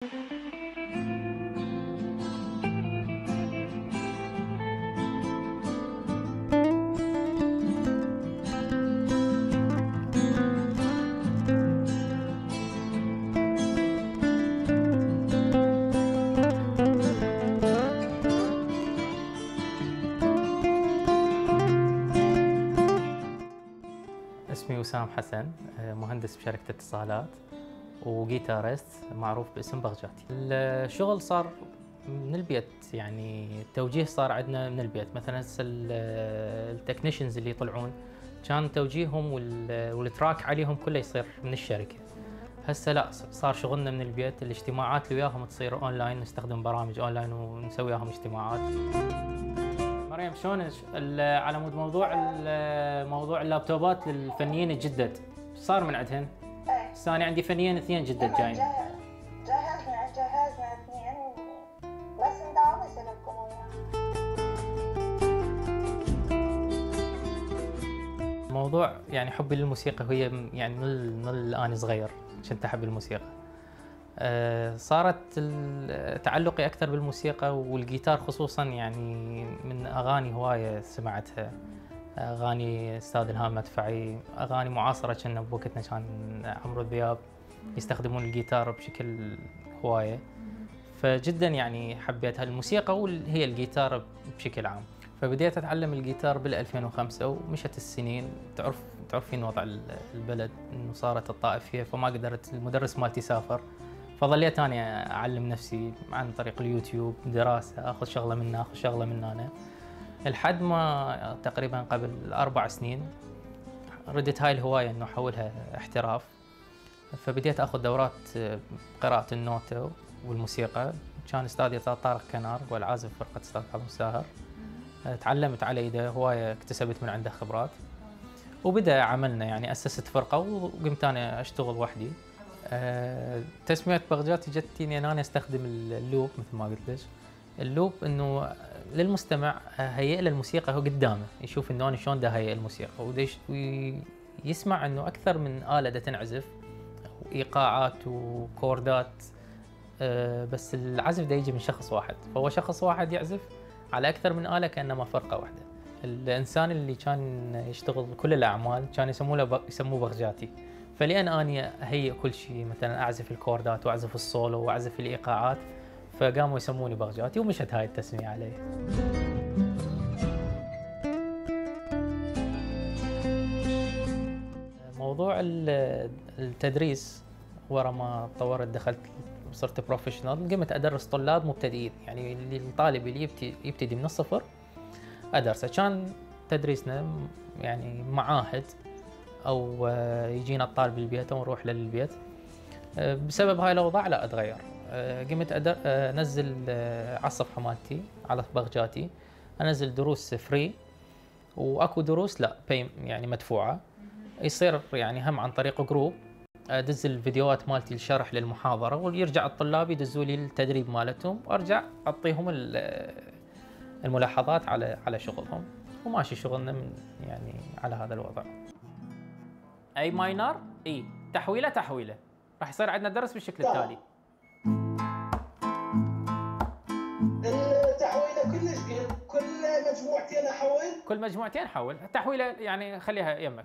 اسمي وسام حسن، مهندس بشركة اتصالات وجيتارست معروف باسم بغجاتي. الشغل صار من البيت، يعني التوجيه صار عندنا من البيت. مثلا هسه التكنيشنز اللي يطلعون كان توجيههم والتراك عليهم كله يصير من الشركة. هسه لا، صار شغلنا من البيت. الاجتماعات اللي وياهم تصير اونلاين، نستخدم برامج اونلاين ونسوي وياهم اجتماعات. مريم شلونك؟ على مود موضوع اللابتوبات للفنيين الجدد، صار من عندهن؟ هسه انا عندي فنيين اثنين جدد جايين. جهزنا اثنين بس نداوم نسلكم وياهم. الموضوع يعني حبي للموسيقى هي يعني من انا صغير كنت احب الموسيقى. صارت تعلقي اكثر بالموسيقى والجيتار خصوصا، يعني من اغاني هوايه سمعتها، اغاني استاذ الهام مدفعي، اغاني معاصره كنا بوقتنا كان عمرو دياب يستخدمون الجيتار بشكل هوايه، فجدا يعني حبيت هالموسيقى وهي الجيتار بشكل عام. فبديت اتعلم الجيتار بال 2005 ومشت السنين. تعرفين وضع البلد انه صارت الطائف فيها، فما قدرت المدرس مالتي سافر، فظليت أنا أعلم نفسي عن طريق اليوتيوب، دراسة، أخذ شغلة من هنا أخذ شغلة من هنا، لحد ما تقريبا قبل 4 سنين ردت هاي الهواية إنه أحولها احتراف. فبديت أخذ دورات قراءة النوتة والموسيقى. كان أستاذي طارق كنار والعازف فرقة أستاذ عبد الساهر. تعلمت على يده هواية، اكتسبت من عنده خبرات، وبدأ عملنا يعني أسست فرقة وقمت أنا أشتغل وحدي. تسمية بغجاتي جتني ان انا استخدم اللوب مثل ما قلت لك. اللوب انه للمستمع هيئ له الموسيقى هو قدامه، يشوف انه انا شلون دا هيئ الموسيقى ويسمع انه اكثر من آلة دا تنعزف، ايقاعات وكوردات، بس العزف دا يجي من شخص واحد، فهو شخص واحد يعزف على اكثر من آلة كانما فرقة واحدة. الانسان اللي كان يشتغل كل الاعمال كان يسموه بغجاتي. فلأن أني أهيئ كل شيء، مثلا أعزف الكوردات وأعزف السولو وأعزف الإيقاعات، فقاموا يسموني بغجاتي ومشت هاي التسمية علي. موضوع التدريس ورا ما طورت دخلت صرت بروفيشنال، قمت أدرس طلاب مبتدئين، يعني الطالب اللي يبتدي من الصفر أدرسه. كان تدريسنا يعني معاهد أو يجينا الطالب للبيت أو نروح له للبيت. بسبب هاي الأوضاع لا أتغير، قمت أنزل على الصفحة مالتي على بغجاتي، أنزل دروس فري، وأكو دروس لا يعني مدفوعة. يصير يعني هم عن طريق جروب أدز الفيديوهات مالتي الشرح للمحاضرة، ويرجع الطلاب يدزوا لي التدريب مالتهم، وأرجع أعطيهم الملاحظات على شغلهم، وماشي شغلنا يعني على هذا الوضع. اي ماينر، اي تحويله راح يصير عندنا درس بالشكل التالي. التحويله كلش كل مجموعتين احول؟ كل مجموعتين حول، التحويله يعني خليها يمك.